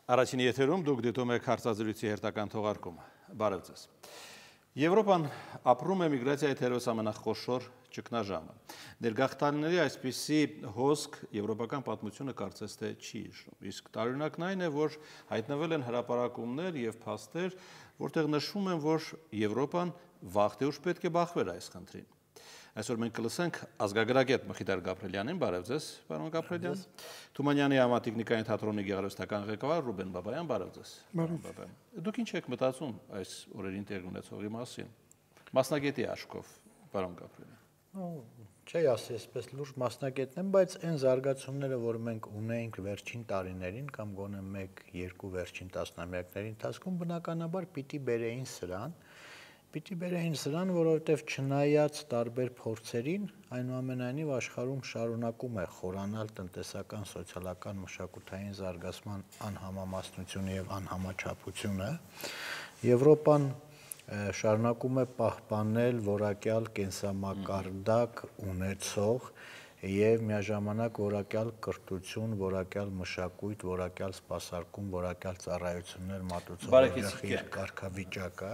Առաջին եթերում դուք դիտում եք հարցազրույցի հերթական թողարկումը։ Բարև ձեզ։ Եվրոպան ապրում է միգրացիայի թերևս ամենախոշոր ճգնաժամը։ Ներգաղթյալների այսպիսի հոսք եվրոպական պատմությունը կարծես թե չի հիշում։ Իսկ տարօրինակն այն է, որ հայտնվել են հրապարակումներ եւ փաստեր, որտեղ նշվում են, որ Եվրոպան վաղ թե ուշ պետք է բախվեր այս խնդրին։ Այսօր մենք կլսենք ազգագրագետ Մխիթար Գաբրելյանին, բարև ձեզ, պարոն Գաբրելյան։ Թումանյանի համատեխնիկայի թատրոնի գեղարվեստական ղեկավար Ռուբեն Բաբայան, բարև ձեզ։ Բարև։ Դուք ինչ եք մտածում այս օրերին տեղի ունեցողի մասին։ Մասնագետի աչքով, պարոն Գաբրելյան։ Չի ասի, այսպես լուրջ մասնագետն եմ, բայց այն զարգացումները, որ մենք ունեինք վերջին տարիներին կամ գոնե 1-2 վերջին տասնամյակների ընթացքում, բնականաբար պիտի բերեին սրան, որովհետև չնայած տարբեր փորձերին, այնուամենայնիվ աշխարհում շարունակում է խորանալ տնտեսական, սոցիալական, մշակութային զարգացման անհամամասնությունը եւ անհամաչափությունը, Եվրոպան շարունակում է պահպանել որակյալ կենսամակարդակ ունեցող եւ միաժամանակ որակյալ կրթություն, որակյալ մշակույթ, որակյալ սպասարկում, որակյալ ծառայություններ մատուցող կարգավիճակը։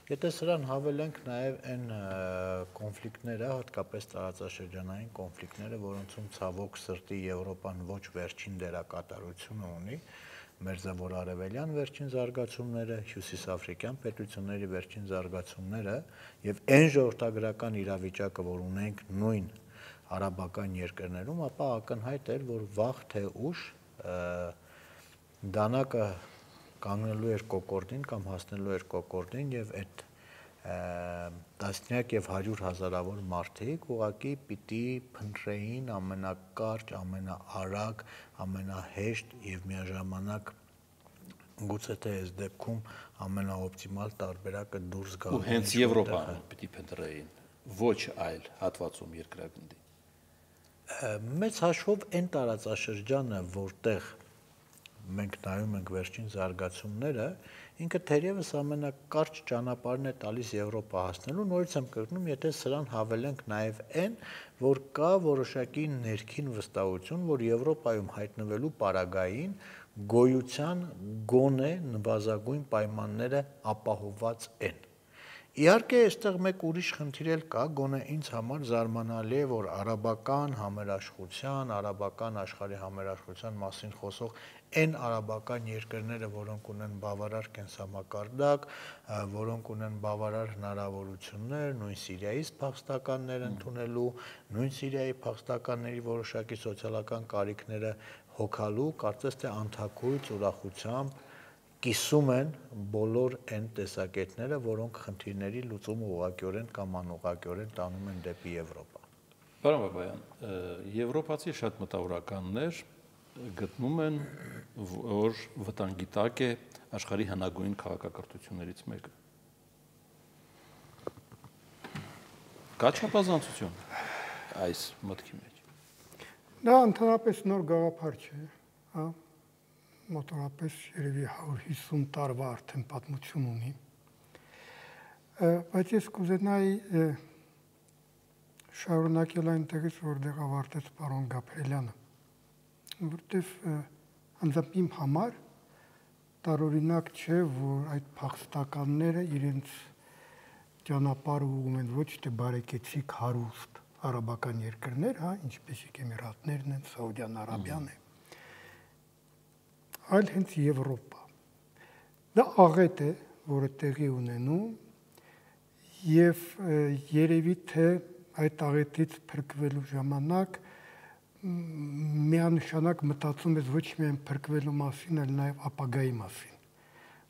Եթե սրան հավելենք նաև այն կոնֆլիկտները, հատկապես տարածաշրջանային կոնֆլիկտները, որոնցում ցավոք սրտի Եվրոպան ոչ վերջին դերակատարությունը ունի, մերձավոր-արևելյան վերջին զարգացումները, հյուսիսաֆրիկյան պետությունների վերջին զարգացումները եւ այն ժողովրդագրական իրավիճակը, որ ունենք նույն արաբական երկրներում, ապա ակնհայտ էր, որ վաղ թե ուշ դանակը կանգնելու էր կոկորդին կամ հասնելու էր կոկորդին եւ այդ տասնյակ եւ 100 հազարավոր մարդիկ ուղղակի պիտի փնտրեին ամենակարճ, ամենաարագ, ամենահեշտ եւ միաժամանակ գուցե թե այս դեպքում ամենաօպտիմալ տարբերակը դուրս գալու։ Ու հենց Եվրոպան պիտի փնտրեին, ոչ այլ հատվածում երկրագնդի։ Մեծ հաշվով այն տարածաշրջանը, որտեղ մենք նայում ենք վերջին զարգացումները, ինքը թերևս ամենակարճ ճանապարհն է տալիս Եվրոպա հասնելու, նորից եմ կրկնում, եթե սրան հավելենք նաև այն, որ կա որոշակի ներքին վստահություն, որ Եվրոպայում հայտնվելու պարագային գոյության գոնե նվազագույն պայմանները ապահովված են։ Իհարկե, այստեղ մեկ ուրիշ խնդիր էլ կա, գոնե ինձ համար զարմանալի է, որ արաբական համերաշխության, արաբական աշխարհի համերաշխության մասին խոսող այն արաբական երկրները, որոնք ունեն բավարար կենսամակարդակ, որոնք ունեն բավարար հնարավորություններ, նույն Սիրիայից փախստականներ ընդունելու, նույն Սիրիայի փախստականների որոշակի սոցիալական կարիքները հոգալու, կարծես թե անթաքույց ուրախությամբ կիսում են բոլոր այն տեսակետները, որոնք խնդիրների լուծումը ուղղակիորեն կամ անուղղակիորեն տանում են դեպի Եվրոպա։ Պարոն Բաբայան, եվրոպացի շատ մտավորականներ գտնում են, որ վտանգի տակ է աշխարհի հնագույն քաղաքակրթություններից մեկը։ Կա չափազանցություն այս մտքի մեջ։ Դա ընդհանրապես նոր գաղափար չէ, հա։ Մոտորապես երևի 150 տարվա արդեն պատմություն ունի, բայց ես կուզենայի շարունակել այնտեղից, որտեղ ավարտեց պարոն Գաբրելյանը, որտեղ անձամբ իմ համար տարօրինակ չէ, որ այդ փախստականները իրենց ճանապարհը ուղղում են ոչ թե բարեկեցիկ հարուստ արաբական երկրներ, հա, ինչպեսիք Էմիրատներն են, Սաուդյան Արաբիան է, այլ հենց Եվրոպա։ Դա աղետ է, որը տեղի ունենում եւ երևի թե այդ աղետից փրկվելու ժամանակ միանշանակ մտածում ես ոչ միայն փրկվելու մասին, այլ նաեւ ապագայի մասին,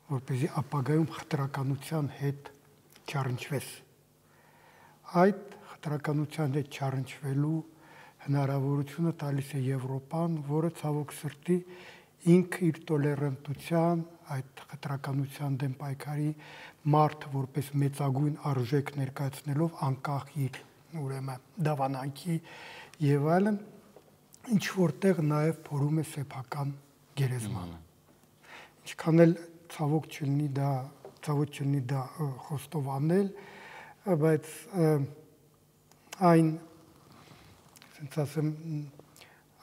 որպեսզի ապագայում խտրականության հետ չառնչվես։ Այդ խտրականության հետ չառնչվելու հնարավորությունը տալիս է Եվրոպան, որը ցավոք սրտի ինքը իր տոլերանտության, այդ խտրականության դեմ պայքարի մարդը որպես մեծագույն արժեք ներկայացնելով անկախ իր ուրեմն դավանանքի եւ այլն, ինչ որտեղ նաեւ փորում է սեփական գերեզմանը։ Ինչքան էլ ցավոք չլինի դա խոստովանել, բայց այն, ասեմ,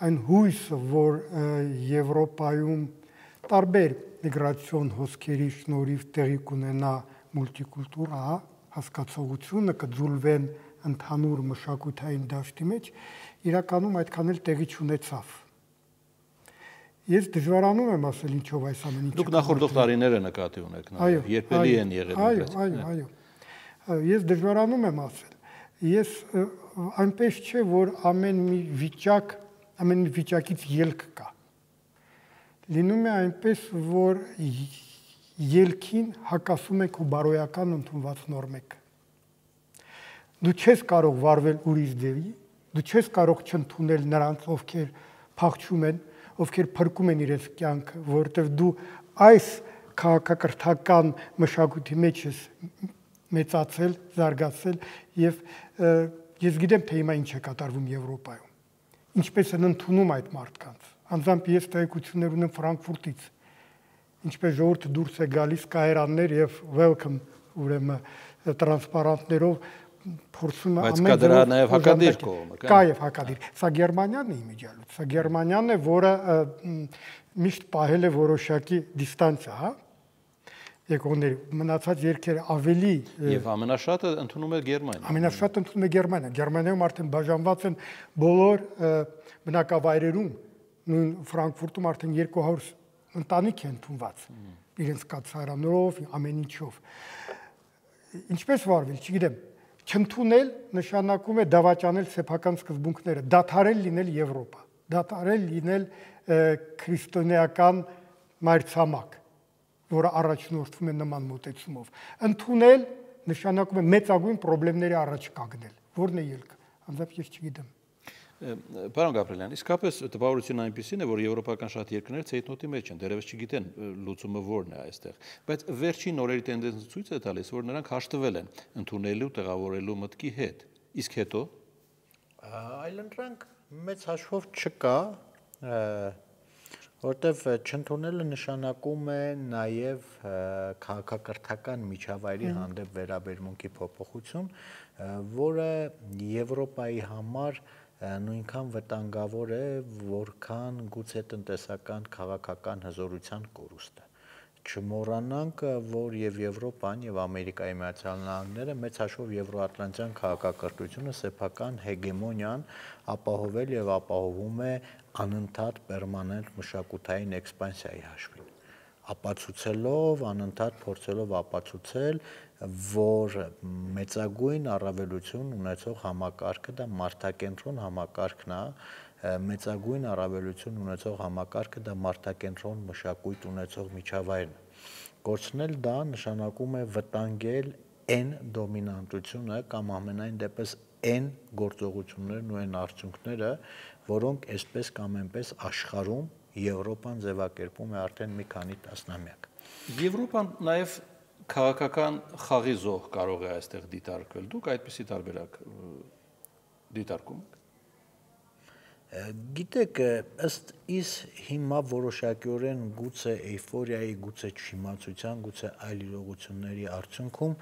այն հույսը, որ Եվրոպայում տարբեր միգրացիոն հոսքերի շնորհիվ տեղի կունենա մուլտիկուլտուրա հասկացողությունը կձուլվեն ընդհանուր մշակութային դաշտի մեջ, իրականում այդքան էլ տեղի չունեցավ։ Ես դժվարանում եմ ասել ինչով այս ամեն ինչը։ Դուք նախորդող տարիները նկատի ունեք, երբելի են եղել։ Այո։ Ես դժվարանում եմ ասել։ Ես այնպես չէ, որ ամեն մի վիճակից ելք կա։ Լինում է այնպես, որ ելքին հակասում եք ու բարոյական ընդունված նորմեք։ Դու չես կարող վարվել ուրիշ ձևի, դու չես կարող չընդունել նրանց, ովքեր փախչում են, ովքեր փրկում են իրենց կյանքը, որովհետև դու այս քաղաքակրթական մշակույթի մեջ ես մեծացել, զարգացել եւ ես գիտեմ, թե հիմա ինչ է կատարվում Եվրոպայում։ Ինչպես են ընդունում այդ մարդկանց։ Անձամբ ես տեղեկություններ ունեմ Ֆրանկֆուրտից, ինչպես ժողովուրդը դուրս է գալիս կայարաններ եւ welcome, ուրեմն տրանսպարանտներով փորձում բայց կա դրա նաև հակադիր կողմը, կա եւ հակադիր։ Սա Գերմանիան է իմիջիալուց, սա Գերմանիան է, որը միշտ պահել է որոշակի դիստանցիա, հա։ Եկողների մնացած երկերը ավելի եւ ամենաշատը ընդունում է Գերմանիան։ Ամենաշատը ընդունում է Գերմանիան։ Գերմանիայում արդեն բաժանված են բոլոր բնակավայրերում, նույն Ֆրանկֆուրտում արդեն 200 ընտանիք է ընդունված իրենց կացարանով, ամեն ինչով։ Ինչպես վարվել, չգիտեմ, չընդունել նշանակում է դավաճանել սեփական սկզբունքները, դադարել լինել Եվրոպա, դադարել լինել քրիստոնեական մայրցամաք, որը առաջնորդվում է նման մոտեցումով։ Ընդունել նշանակում է մեծագույն խնդիրների առաջ կանգնել։ Որն է ելքը։ Անձամբ ես չգիտեմ։ Պարոն Գաբրելյան, իսկապես տպավորությունն այնպեսին է, որ եվրոպական շատ երկրներ ցեյթնոտի մեջ են, դեռևս չգիտեն լուծումը որն է այստեղ, բայց վերջին օրերի տենդենսը ցույց է տալիս, որ նրանք հաշտվել են ընդունելու, տեղավորելու մտքի հետ։ Իսկ հետո այլընտրանք մեծ հաշվով չկա, որտեվ չընդունելը նշանակում է նաև քաղաքակրթական միջավայրի հանդեպ վերաբերմունքի փոփոխություն, որը Եվրոպայի համար նույնքան վտանգավոր է, որքան գուցե տնտեսական քաղաքական հզորության կորուստը։ Չմոռանանք, որ եւ Եվրոպան եւ Ամերիկայի Միացյալ Նահանգները մեծ հաշվով եվրոատլանտյան քաղաքակրթությունը սեփական հեգեմոնիան ապահովել եւ ապահովում է անընդհատ պերմանենտ մշակութային էքսպանսիայի հաշվին, ապացուցելով, անընդհատ փորձելով ապացուցել, որ մեծագույն առավելություն ունեցող համակարգը դա մարդակենտրոն համակարգն է, մեծագույն առավելություն ունեցող համակարգը դա մարդակենտրոն մշակույթ ունեցող միջավայրն է։ Կորցնել դա նշանակում է վտանգել այն դոմինանտությունը կամ ամենայն դեպս այն գործողություններն ու այն արդյունքները, որոնք այսպես կամ այնպես աշխարհում Եվրոպան ձևակերպում է արդեն մի քանի տասնամյակ։ Եվրոպան նաև քաղաքական խաղի զոհ կարող է այստեղ դիտարկվել։ Դուք այդպիսի տարբերակ դիտարկում եք։ Գիտեք, ըստ իս հիմա որոշակիորեն գուցե էյֆորիայի, գուցե չիմացության, գուցե այլ իրողությունների արդյունքում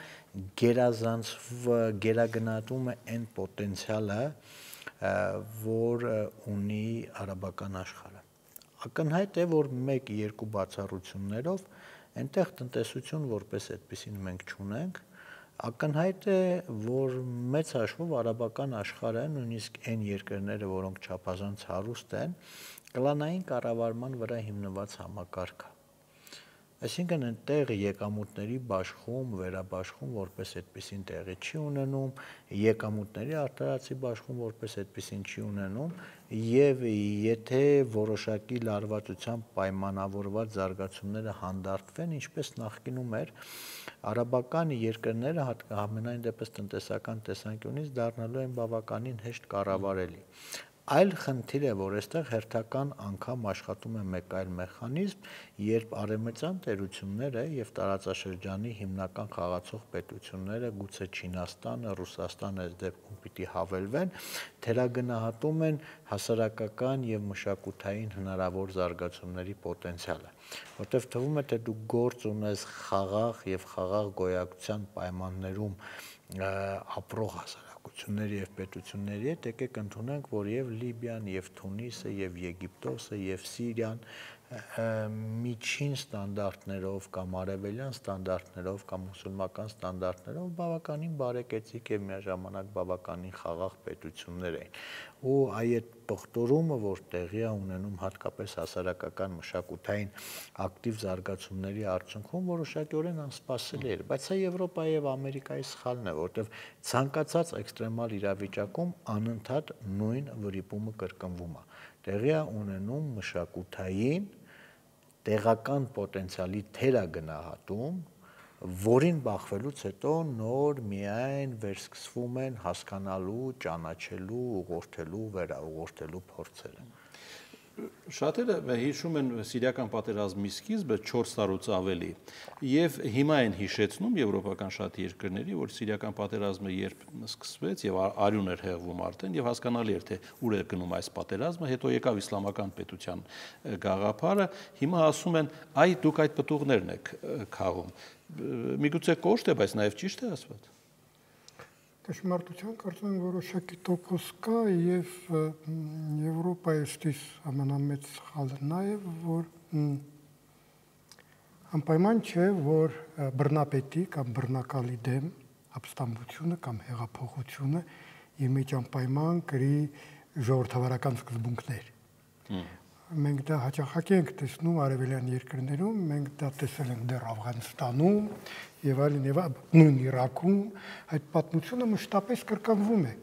գերագնահատում է այն պոտենցիալը, որ ունի արաբական աշխարհը։ Ակնհայտ է, որ 1-2 բացառություններով այնտեղ տնտեսություն որպես այդպեսին մենք չունենք, ակնհայտ է, որ մեծ հաշվով արաբական աշխարհը, նույնիսկ այն երկրները, որոնք չափազանց հարուստ են, կլանային կառավարման վրա հիմնված համակարգ է։ Այսինքն այնտեղ եկամուտների բաշխում, վերաբաշխում որպես այդպեսին տեղի չի ունենում, եկամուտների արտարացի բաշխում որպես այդպեսին չի ունենում, եւ եթե որոշակի լարվածությամբ պայմանավորված զարգացումները հանդարտվեն, ինչպես նախկինում էր, արաբական երկրները ամենայն դեպս տնտեսական տեսանկյունից դառնալու են բավականին հեշտ կառավարելի։ Այլ խնդիր է, որ այստեղ հերթական անգամ աշխատում է մեկ այլ մեխանիզմ, երբ արևմտյան տերությունները եւ տարածաշրջանի հիմնական խաղացող պետությունները, գուցե Չինաստանը, Ռուսաստանը այս դեպքում պիտի հավելվեն, թերագնահատում են հասարակական եւ մշակութային հնարավոր զարգացումների պոտենցիալը, որտեղ թվում է, թե դու գործ ունես խաղաղ եւ խաղաղ գոյակցության պայմաններում ապրող հասարակությունների եւ պետությունների հետ, եկեք ընդունենք, որ եւ Լիբիան, եւ Թունիսը, եւ Եգիպտոսը, եւ Սիրիան, միջին ստանդարտներով կամ արևելյան ստանդարտներով կամ մուսուլմական ստանդարտներով բավականին բարեկեցիկ եւ միաժամանակ բավականին խաղաղ պետություններ էին ու այդ պղտորումը որ տեղի է ունենում հատկապես հասարակական մշակութային ակտիվ զարգացումների արդյունքում որոշակիորեն անսպասելի էր բայց սա Եվրոպայի եւ Ամերիկայի սխալն է որտեվ ցանկացած էքստրեմալ իրավիճակում անընդհատ նույն վրիպումը կրկնվում է տեղի է ունենում մշակութային տեղական պոտենցիալի թերագնահատում, որին բախվելուց հետո նոր միայն վերսկսվում են հասկանալու, ճանաչելու, ուղղորդելու, վերաուղղորդելու փորձերը։ Շատերը հիշում են սիրիական պատերազմի սկիզբը 4 տարուց ավելի եւ հիմա են հիշեցնում եվրոպական շատ երկրների, որ սիրիական պատերազմը երբ սկսվեց եւ արյուն էր հեղվում արդեն եւ հասկանալի էր թե ուր է գնում այս պատերազմը, հետո եկավ իսլամական պետության գաղափարը, հիմա ասում են այ դուք այդ պտուղներն եք քաղում։ Միգուցե կոշտ է, բայց նաեւ ճիշտ է ասված։ Դժմարտության կարծում եմ որոշակի տոկոս կա եւ Եվրոպայի ստիս ամենամեծ սխալը նա է որ անպայման չէ որ բռնապետի կամ բռնակալի դեմ ապստամբությունը կամ հեղափոխությունը իր մեջ անպայման կրի ժողովրդավարական սկզբունքներ մենք դա հաճախակի ենք տեսնում արևելյան երկրներում մենք դա տեսել ենք դեռ Աֆղանստանում եւ այլն եւ նույն Իրաքում այդ պատմությունը մշտապես կրկնվում է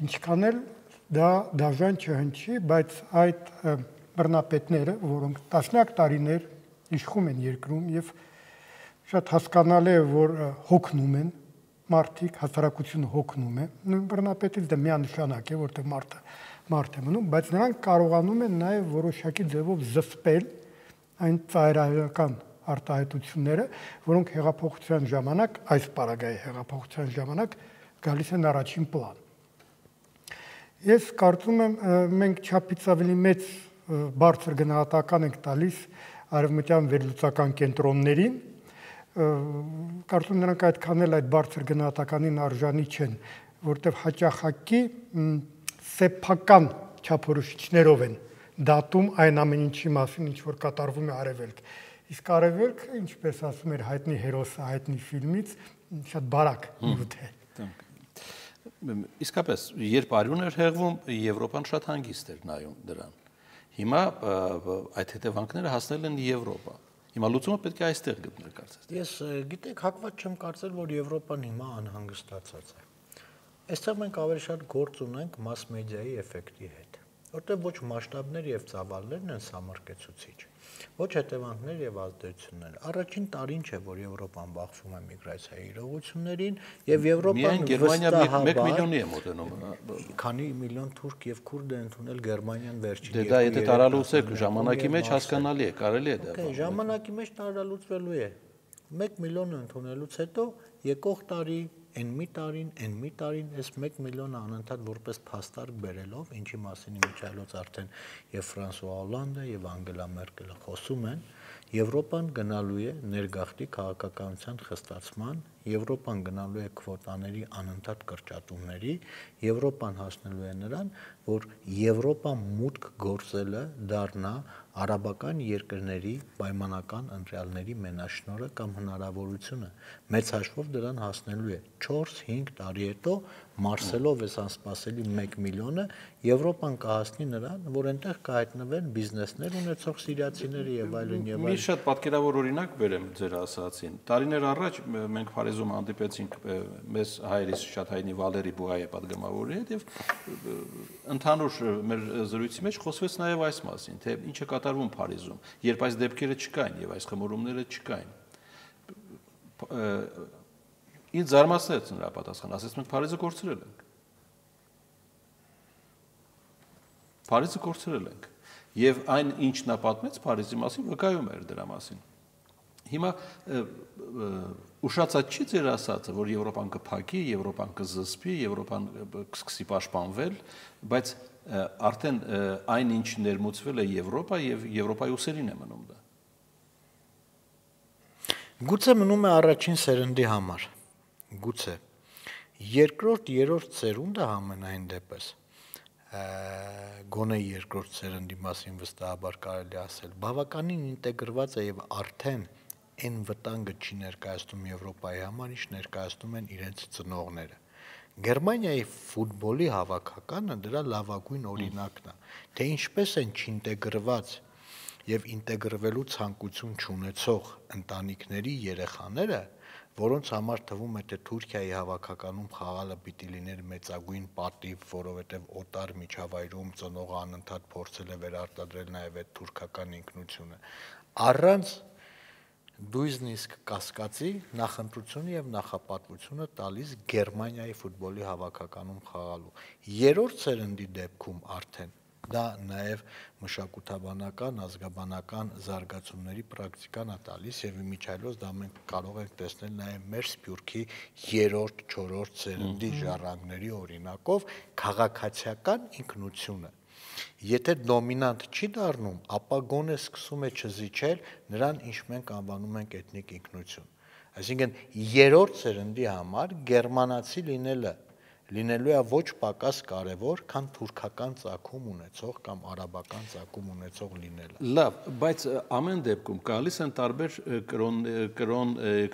ինչքան էլ դա դաժան չհնչի բայց այդ բռնապետները որոնք տասնյակ տարիներ իշխում են երկրում եւ շատ հասկանալի է որ հոգնում են մարդիկ հասարակությունը հոգնում է նույն բռնապետից դա միանշանակ է որտեղ մարդ է մնում բայց նրանք կարողանում են նաեւ որոշակի ձևով զսպել այն ծայրահեղական արտահայտությունները, որոնք հեղափոխության ժամանակ, այս պարագայի հեղափոխության ժամանակ գալիս են առաջին պլան։ Ես կարծում եմ մենք չափից ավելի մեծ բարձր գնահատական ենք տալիս արևմտյան վերլուծական կենտրոններին, կարծում նրանք այդքան էլ այդ բարձր գնահատականին արժանի չեն, որտեղ հաճախակի սեփական չափորոշիչներով են դատում այն ամեն ինչի մասին, ինչ որ կատարվում է արևելք։ Իսկ արևելքը, ինչպես ասում էր հայտնի հերոսը հայտնի ֆիլմից, շատ բարակ նյութ է։ Իսկապես, երբ արյուն էր հեղվում, Եվրոպան շատ հանգիստ էր նայում դրան։ Հիմա այդ հետևանքները հասնել են Եվրոպա։ Հիմա լուծումը պետք է այստեղ գտնել կարծես։ Ես գիտեք, հակված չեմ կարծել, որ Եվրոպան հիմա անհանգստացած է։ Այստեղ մենք ավելի շատ գործ ունենք մաս մեդիայի էֆեկտի հետ, որտեղ ոչ մասշտաբներ եւ ծավալներն են սամարկեցուցիչ, ոչ հետևանքներ եւ ազդեցություններ։ Առաջին տարին չէ, որ Եվրոպան բախվում է միգրացիայի իրողություններին եւ Եվրոպան Գերմանիա 1 միլիոնի է մոտենում։ Քանի միլիոն թուրք եւ քուրդ է ընդունել Գերմանիան վերջին։ Դե դա եթե տարալուծեք ժամանակի մեջ հասկանալի է, կարելի է դա։ Դե ժամանակի մեջ տարալուծվելու է։ 1 միլիոն ընդունելուց հետո եկող տարի Այն մի տարին այս 1 միլիոնը անընդհատ որպես փաստարկ բերելով, ինչի մասին իմիջայլոց արդեն եւ Ֆրանսուଆ Օլանդը եւ Անգելա Մերկելը խոսում են, Եվրոպան գնալու է ներգաղթի քաղաքականության խստացման, Եվրոպան գնալու է քվոտաների անընդհատ կրճատումների, Եվրոպան հասնելու է նրան, որ Եվրոպա մուտք գործելը դառնա արաբական երկրների պայմանական ընտրյալների մենաշնորհը կամ հնարավորությունը մեծ հաշվով դրան հասնելու է 4-5 տարի հետո մարսելով այս անսպասելի 1 միլիոնը Եվրոպան կհասնի նրան, որ այնտեղ կհայտնվեն բիզնեսներ ունեցող սիրիացիները եւ այլն եւ այլն։ Մի շատ պատկերավոր օրինակ բերեմ ձեր ասացին։ Տարիներ առաջ մենք Փարիզում հանդիպեցինք մեզ հայրից շատ հայտնի Վալերի Բուղայե պատգամավորի հետ եւ ընդհանուր մեր զրույցի մեջ խոսվեց նաեւ այս մասին, թե ինչ է կատարվում Փարիզում, երբ այս դեպքերը չկային եւ այս խմորումները չկային։ Ինձ զարմացրեց նրա պատասխանը, ասեց մենք Փարիզը կորցրել ենք։ Փարիզը կորցրել ենք։ Եվ այն ինչ նա պատմեց Փարիզի մասին, վկայում էր դրա մասին։ Հիմա ուշացած չի ձեր ասածը, որ Եվրոպան կփակի, Եվրոպան կզսպի, Եվրոպան կսկսի պաշտպանվել, բայց արդեն այն ինչ ներմուծվել է Եվրոպա եւ Եվրոպայի ուսերին է մնում դա։ Գուցե մնում է առաջին սերնդի համար։ Գուցե երկրորդ, երրորդ սերունդը համենայն դեպս գոնե երկրորդ սերնդի մասին վստահաբար կարելի ասել, բավականին ինտեգրված է եւ արդեն այն վտանգը չի ներկայացնում Եվրոպայի համար, ինչ ներկայացնում են իրենց ծնողները։ Գերմանիայի ֆուտբոլի հավաքականը դրա լավագույն օրինակն է, թե ինչպես են չինտեգրված եւ ինտեգրվելու ցանկություն չունեցող ընտանիքների երեխաները, որոնց համար թվում է թե Թուրքիայի հավաքականում խաղալը պիտի լիներ մեծագույն պատիվ, որովհետև օտար միջավայրում ծնողը անընդհատ փորձել է վերարտադրել նաև այդ թուրքական ինքնությունը, առանց դույզնիսկ կասկածի նախընտրությունը եւ նախապատվությունը տալիս Գերմանիայի ֆուտբոլի հավաքականում խաղալու։ Երրորդ սերնդի դեպքում արդեն դա նաև մշակութաբանական, ազգաբանական զարգացումների պրակտիկան է տալիս եւ իմիջիայլոց դա մենք կարող ենք տեսնել նաև մեր Սփյուռքի երրորդ, չորրորդ սերնդի ժառանգների օրինակով քաղաքացիական ինքնությունը։ Եթե դոմինանտ չի դառնում, ապա գոնե սկսում է չզիջել նրան, ինչ մենք անվանում ենք էթնիկ ինքնություն։ Այսինքն երրորդ սերնդի համար գերմանացի լինելու է ոչ պակաս կարևոր, քան թուրքական ծագում ունեցող կամ արաբական ծագում ունեցող լինելը։ Լավ, բայց ամեն դեպքում գալիս են տարբեր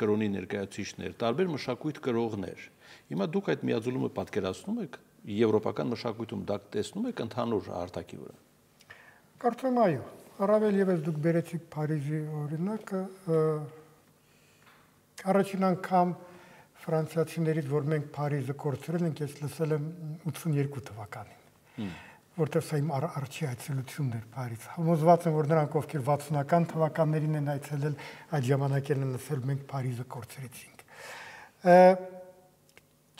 կրոնի ներկայացուցիչներ, տարբեր մշակույթ կրողներ։ Հիմա դուք այդ միաձուլումը պատկերացնում եք եվրոպական մշակույթում, դա տեսնում եք ընդհանուր արտակի վրա։ Կարծում այո, առավել եւս դուք բերեցիք Փարիզի օրինակը, առաջին անգամ ֆրանսիացիներից, որ մենք Փարիզը կորցրել ենք, ես լսել եմ 82 թվականին, որտեղ սա իմ առաջի այցելությունն էր Փարիզ։ Համոզված եմ, որ նրանք, ովքեր 60-ական թվականներին են այցելել, այդ ժամանակերն են լսել, մենք Փարիզը կորցրեցինք։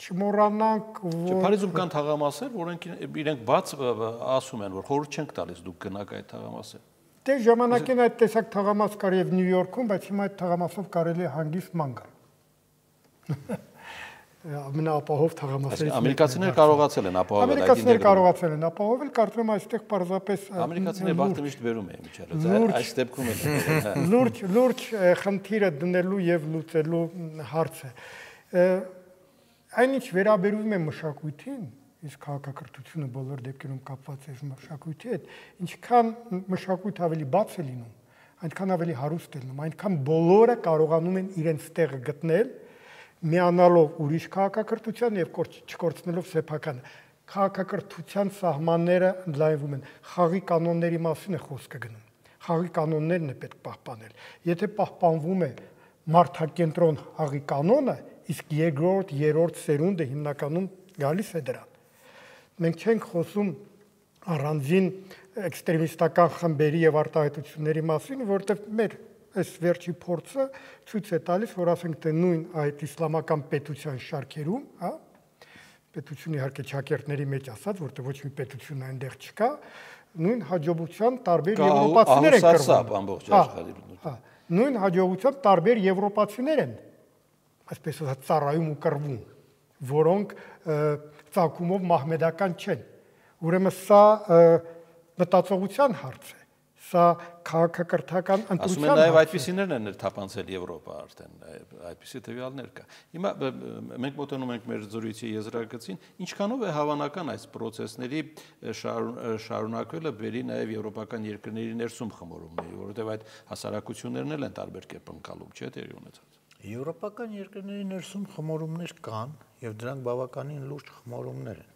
Չմոռանանք, որ Փարիզում կան թաղամասեր, որոնք իրենք բաց ասում են, որ խորհուրդ չենք տալիս դուք գնաք այդ թաղամասեր։ Դե ժամանակին այդ տեսակ թաղամաս կար եւ Նյու Յորքում, բայց հիմա այդ թաղամասով կարելի է հանգիստ ման գալ։ Ամենաապահով թաղամասերից ամերիկացիները կարողացել են ապահովել այդ Ամերիկացիները կարողացել են ապահովել, կարծում եմ այստեղ պարզապես ամերիկացիները բախտը միշտ վերում էին միջալոց, այս դեպքում էլ լուրջ խնդիրը դնելու եւ լուծելու հարց է։ Այնինչ վերաբերում է մշակույթին, իսկ քաղաքակրթությունը բոլոր դեպքերում կապված է մշակույթի հետ, ինչքան մշակույթը ավելի բաց է լինում, այնքան ավելի հարուստ է լինում, այնքան բոլորը կարողանում են իրենց տեղը գտնել, միանալով ուրիշ քաղաքակրթության եւ չկորցնելով սեփականը։ Քաղաքակրթության սահմանները ընդլայնվում են, խաղի կանոնների մասին է խոսքը գնում։ Խաղի կանոններն է պետք պահպանել։ Եթե պահպանվում է մարդակենտրոն խաղի կանոնը, իսկ երկրորդ, երրորդ սերունդը հիմնականում գալիս է դրան։ Մենք չենք խոսում առանձին էքստրեմիստական խմբերի եւ արտահայտությունների մասին, որտեղ մեր այս վերջի փորձը ցույց է տալիս, որ ասենք թե նույն այդ իսլամական պետության շարքերում, հա, պետությունը իհարկե ճակերտների մեջ ասած, որտեղ ոչ մի պետություն այնտեղ չկա, նույն հաջողության տարբեր եվրոպացիներ են կրվում։ Ամբողջ աշխարհի։ Հա, նույն հաջողությամբ տարբեր եվրոպացիներ են, այսպես ասած, ծառայում ու կռվում, որոնք ծագումով մահմեդական չեն։ Ուրեմն սա մտածողության հարց է, սա քաղաքակրթական ընտրության հարց է։ Ասում են նաև այդպիսիներն են թափանցել Եվրոպա արդեն, այդպիսի տվյալներ կա։ Հիմա մենք մոտենում ենք մեր զրույցի եզրագծին, ինչքանով է հավանական այս պրոցեսների շարունակվելը բերի նաև եվրոպական երկրների ներսում խմորումների, որովհետև այդ հասարակություններն էլ են տարբեր կերպ ընկալում, չէ՞ տեղի ունեցած։ Եվրոպական երկրների ներսում խմորումներ կան եւ դրանք բավականին լուրջ խմորումներ են։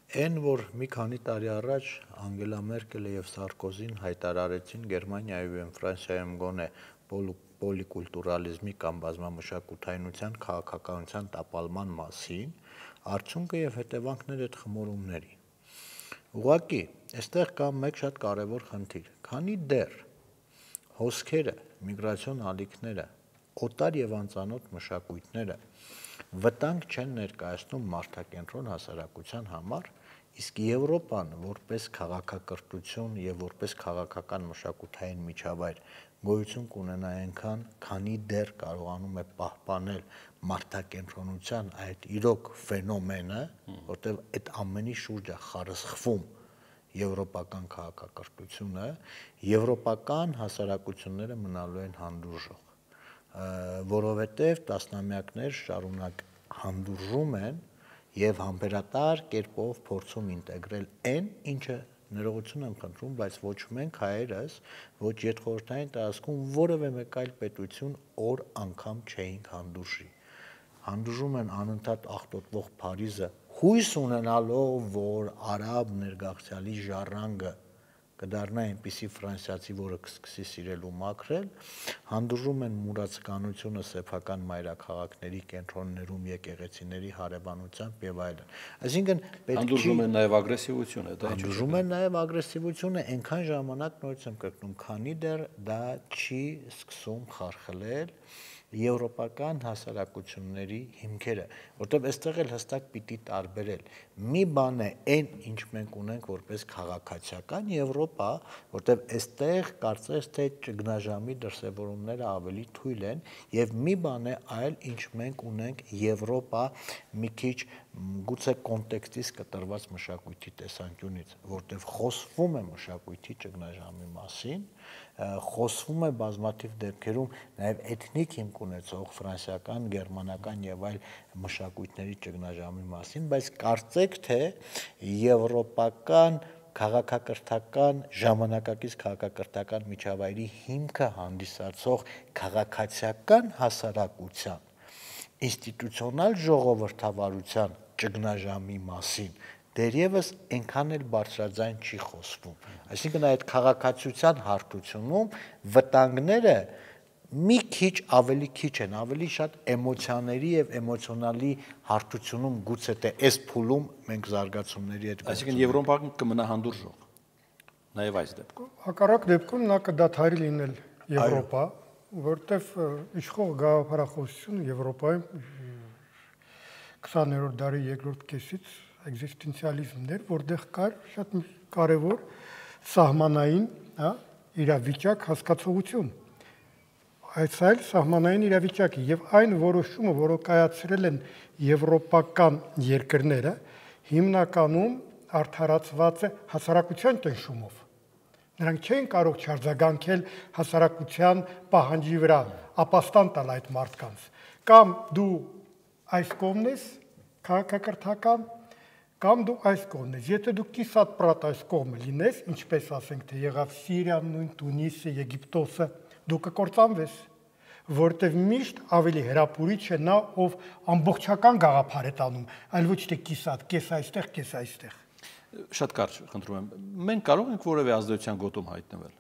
Այն, որ մի քանի տարի առաջ Անգելա Մերկելը եւ Սարկոզին հայտարարեցին Գերմանիայում եւ Ֆրանսիայում գոնե պոլիկուլտուրալիզմի կամ բազմամշակութայնության քաղաքականության տապալման մասին, արդյունքը եւ հետևանքները այդ խմորումների։ Ուղղակի, այստեղ կա մեկ շատ կարևոր խնդիր, քանի դեռ հոսքերը, միգրացիոն ալիքները, օտար եւ անծանոթ մշակույթները վտանգ չեն ներկայացնում մարդակենտրոն հասարակության համար, իսկ Եվրոպան որպես քաղաքակրթություն եւ որպես քաղաքական մշակութային միջավայր գոյություն կունենա այնքան, քանի դեռ կարողանում է պահպանել մարդակենտրոնության այդ իրոք ֆենոմենը, որտեղ այդ ամենի շուրջ է խարսխվում եվրոպական քաղաքակրթությունը, եվրոպական հասարակությունները մնալու են հանդուրժող, որովհետև տասնամյակներ շարունակ հանդուրժում են եւ համբերատար կերպով փորձում ինտեգրել այն, ինչը ներողություն եմ խնդրում, բայց ոչ մենք հայերս, ոչ յետխորհրդային տարածքում որևէ մեկ այլ պետություն օր անգամ չէինք հանդուրժի։ Հանդուրժում են անընդհատ աղտոտվող Փարիզը, հույս ունենալով, որ արաբ ներգաղթյալի ժառանգը կդառնա այնպիսի ֆրանսիացի, որը կսկսի սիրել ու մաքրել, հանդուրժում են մուրացկանությունը սեփական մայրաքաղաքների կենտրոններում եկեղեցիների հարևանությամբ եւ այլն։ Այսինքն հանդուրժում են նաեւ ագրեսիվությունը, դա հանդուրժում են նաեւ ագրեսիվությունը այնքան ժամանակ նորից եմ կրկնում, քանի դեռ դա չի սկսում խարխլել եվրոպական հասարակությունների հիմքերը, որտեղ այստեղ էլ հստակ պիտի տարբերել։ Մի բան է այն, ինչ մենք ունենք որպես քաղաքացիական Եվրոպա, որտեղ այստեղ կարծես թե ճգնաժամի դրսևորումները ավելի թույլ են, եւ մի բան է այլ, ինչ մենք ունենք Եվրոպա մի քիչ գուցե կոնտեքստից կտրված մշակույթի տեսանկյունից, որտեղ խոսվում է մշակույթի ճգնաժամի մասին, խոսվում է բազմաթիվ դեպքերում նաև էթնիկ հիմք ունեցող ֆրանսիական, գերմանական եւ այլ մշակույթների ճգնաժամի մասին, բայց կարծեք թե եվրոպական քաղաքակրթական ժամանակակից քաղաքակրթական միջավայրի հիմքը հանդիսացող քաղաքացիական հասարակության ինստիտուցիոնալ ժողովրդավարության ճգնաժամի մասին դերևս այնքան էլ բարձրաձայն չի խոսվում։ Այսինքն այդ քաղաքացիության հարթությունում վտանգները մի քիչ ավելի քիչ են, ավելի շատ էմոցիաների եւ էմոցիոնալի հարթությունում գուցե թե այս փուլում մենք զարգացումների հետ Այսինքն Եվրոպան կմնա հանդուրժող։ Նաեւ այս դեպքում։ Հակառակ դեպքում նա կդադարի լինել Եվրոպա, որտեվ իշխող գաղափարախոսությունը Եվրոպայում 20-րդ դարի երկրորդ կեսից էգզիստենցիալիզմն էր, որտեղ կար շատ կարևոր սահմանային, իրավիճակ հասկացողություն։ Այս այլ սահմանային իրավիճակի եւ այն որոշումը, որը կայացրել են եվրոպական երկրները, հիմնականում արդարացված է հասարակության ճնշումով։ Նրանք չէին կարող չարձագանքել հասարակության պահանջի վրա, ապաստան տալ այդ մարդկանց։ Կամ դու այս կողմն ես քաղաքակրթական, կամ դու այս կողմն ես։ Եթե դու կիսատ պրատ այս կողմը լինես, ինչպես ասենք, թե եղավ Սիրիան, նույն Տունիսը, Եգիպտոսը, դու կկործանվես, որտեղ միշտ ավելի հրապուրիչ է նա, ով ամբողջական գաղափար է տանում, այլ ոչ թե կիսատ, կես այստեղ, կես այստեղ։ Շատ կարճ խնդրում եմ։ Մենք կարող ենք որևէ ազդեցության գոտում հայտնվել։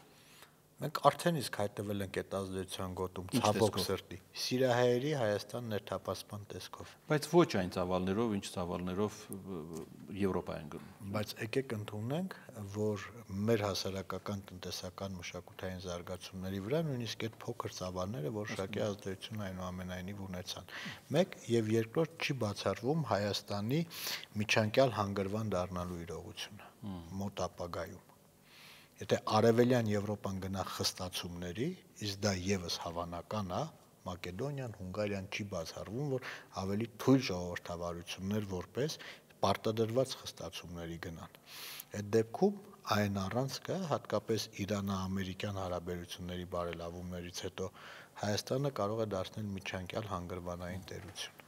Մենք արդեն իսկ հայտնվել ենք այդ ազդեցության գոտում, ցավոք սրտի, Սիրիահայերի Հայաստան ներթափանցման տեսքով։ Բայց ոչ այն ծավալներով, ինչ ծավալներով Եվրոպայում գնում։ Բայց եկեք ընդունենք, որ մեր հասարակական, տնտեսական, մշակութային զարգացումների վրա նույնիսկ այդ փոքր ծավալները որոշակի ազդեցություն այնուամենայնիվ ունեցան։ Մեկ եւ երկրորդ չի բացառվում Հայաստանի միջանկյալ հանգրվան դառնալու իրողությունը մոտ ապագայում։ Եթե արևելյան Եվրոպան գնա խստացումների, իսկ դա եւս հավանական է, Մակեդոնիան, Հունգարիան չի բացառվում, որ ավելի թույլ ժողովրդավարություններ որպես պարտադրված խստացումների գնան։ Այդ դեպքում այն առանցքը, հատկապես Իրано-ամերիկյան հարաբերությունների բարելավումներից հետո Հայաստանը կարող է դարձնել միջանկյալ հանգրվանային տերություն։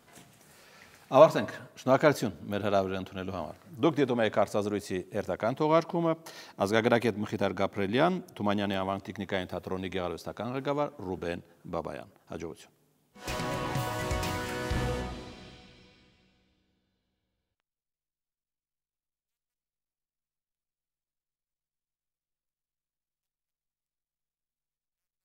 Ավարտենք։ Շնորհակալություն մեր հրավերը ընդունելու համար։ Դուք դիտում եք հարցազրույցի հերթական թողարկումը, ազգագրագետ Մխիթար Գաբրելյան, Թումանյանի անվան տեխնիկային թատրոնի գեղարվեստական ղեկավար Ռուբեն Բաբայան։ Հաջողություն։